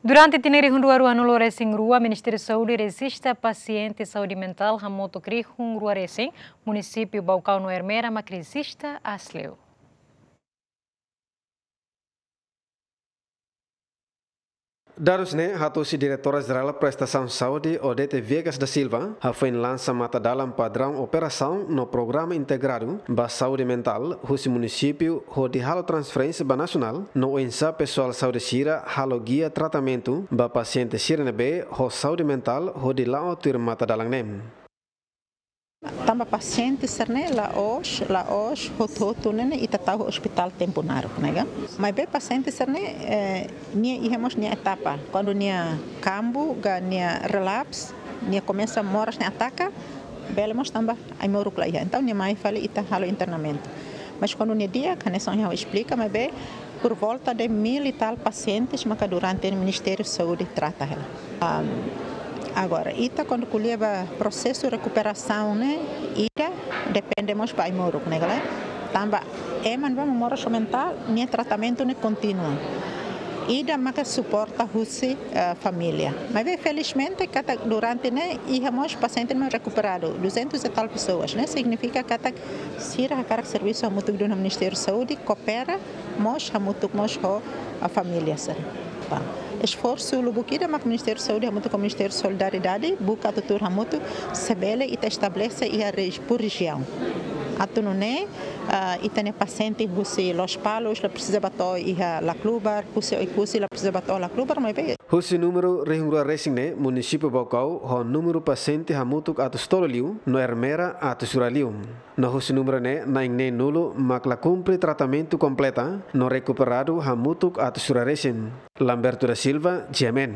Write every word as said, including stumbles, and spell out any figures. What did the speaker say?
Durante tinan rihun rua ruanulu resin rua, Ministériu Saúde rejista pasiente saúde mentál hamutuk rihun rua resin, munisípiu Baucau no Ermera mak rejista aas liu. Dadus ne'e hato'o husi Diretora Jerál Prestasaun Saúde, Odete Viegas da Silva, hafoin lansa matadalan padraun operasaun no programa integradu ba saúde mentál husi munisípiu hodi halo transferénsia ba nasionál, no oinsá pesoál saúde sira halo gia tratamentu ba pasiente sira ne'ebé ho saúde mentál hodi la'o tuir matadalan ne'e. Tanba pasiente sira-ne'e la'ós, la'ós hotu-hotu ne'e, ne'e ita tau ospitál tempu naruk, ne'e ka? Maibé pasiente sira-ne'e, eh, nia iha mós nia etapa. Kuandu nia kambu, ka nia relapse, nia komesa moras nia ataka, bele mós tanba ai-moruk la iha. Entaun nia mai fali ita halo internamentu. Mas kuandu nia di'ak, hanesan ha'u esplika, maibé por volta de mil e tal pacientes maka durante Ministériu Saúde trata hela. Am, agora, ita kuandu ko'alia ba prosesu rekuperasaun ne'e, ida depende mós ba ai-moruk, ne'e ka lae? Tanba ema ne'ebé moras mentál, nia tratamentu ne'e kontinua. Ida maka suporta husi, eh, família. Maibé felizmente katak durante ne'e iha mós pasiente ne'ebé rekuperadu, duzentos e tal pessoas, ne'e signifika katak sira hakarak servisu hamutuk duni ho Ministériu Saúde, koopera mós hamutuk mós ho, a, família sira. Ba, esforsu lubuk ida mak Ministériu Saúde hamutuk ho Ministériu Solidariedade buka atu tuur hamutuk, se bele ita estabelese iha regi-, por rejiaun. Atu nune'e, ah, ita-nia pasiente husi Lospalos la presiza bá to'o iha Laclubar, husi Oekusi la presiza bá to'o Laclubar, maibé. Husi númeru rihun rua resin ne'e, munisípiu Baucau ho númeru pasiente hamutuk atus tolu liu, no Ermera atus rua liu. No husi númeru ne'e, na'in-neenulu mak la kumpre tratamentu kompleta, no rekuperadu hamutuk atus rua resin. Lamberto da Silva, G M N.